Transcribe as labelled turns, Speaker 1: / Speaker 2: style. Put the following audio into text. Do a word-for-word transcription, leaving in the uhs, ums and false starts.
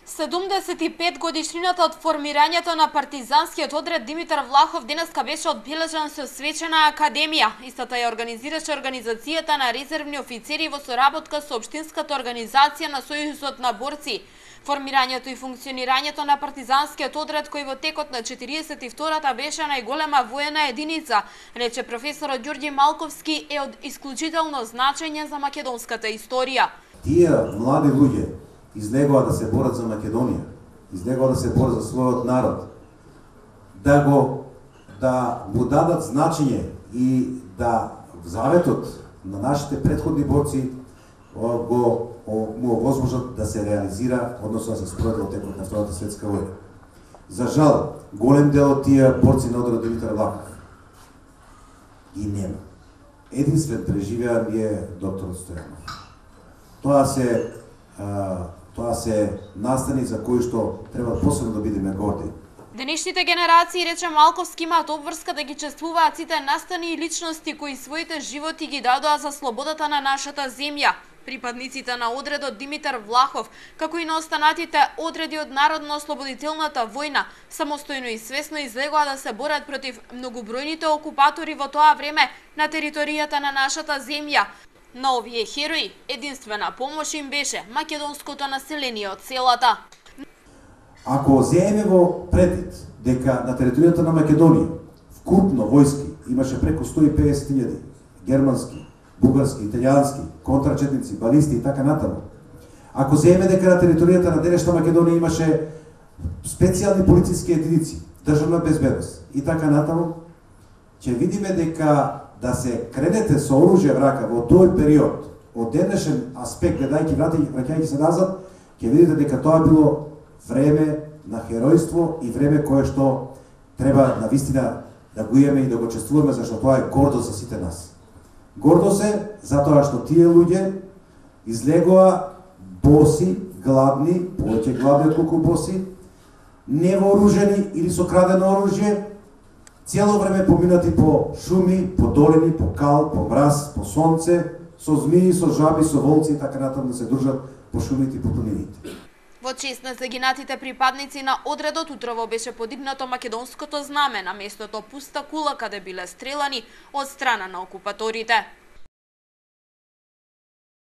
Speaker 1: седумдесет и пет годишнината од формирањето на партизанскиот одред Димитар Влахов денеска беше одбележан со свечена академија. Истата ја организираше организацијата на резервни офицери во соработка со општинската организација на Сојузот на борци. Формирањето и функционирањето на партизанскиот одред, кој во текот на четириесет и втората беше најголема воена единица, рече професорот Ѓорѓе Малковски, е од исклучително значење за македонската историја.
Speaker 2: Тие млади луѓе излегува да се борат за Македонија, излегува да се борат за својот народ, да го да му дадат значење и да заветот на нашите претходни борци го му овозможат да се реализира, односно да се спроведе во текот на Втората светска војна. За жал, голем дел од тие борци на одред Димитар Влахов и нема. Единствен преживеа ми е докторот Стојанов. Тоа се а, тоа се настани за кои што треба посебно да бидеме горди.
Speaker 1: Денешните генерации, рече Малковски, имаат обврска да ги чествуваат сите настани и личности кои своите животи ги дадоа за слободата на нашата земја. Припадниците на одредот Димитар Влахов, како и на останатите одреди од Народно-ослободителната војна, самостојно и свесно излегоа да се борат против многобројните окупатори во тоа време на територијата на нашата земја. На овие херои единствена помош им беше македонското население од селата.
Speaker 2: Ако земеме во предвид дека на територијата на Македонија вкупно војски имаше преку сто и педесет илјади германски, бугарски, италијански, контрачетници, балисти и така натаму. Ако земеме дека на територијата на денешна Македонија имаше специјални полициски единици, државна безбедност и така натаму, ќе видиме дека да се кредете со оружје в рака во тој период, од денешен аспект, гледајќи враќајќи се назад, ќе видите дека тоа било време на херојство и време кое што треба навистина да го имаме и да го чествуваме, зашто тоа е гордо за сите нас. Гордо се затоа што тие луѓе излегоа боси, гладни, повеќе гладни отколку боси, невооружени или со крадено оружје, цело време поминати по шуми, по долини, по кал, по мраз, по сонце, со змии, со жаби, со волци и така натаму да се дружат по шумите и по планините.
Speaker 1: Во чест на загинатите припадници на одредот утрово беше подигнато македонското знаме на местото пуста кула каде биле стрелани од страна на окупаторите.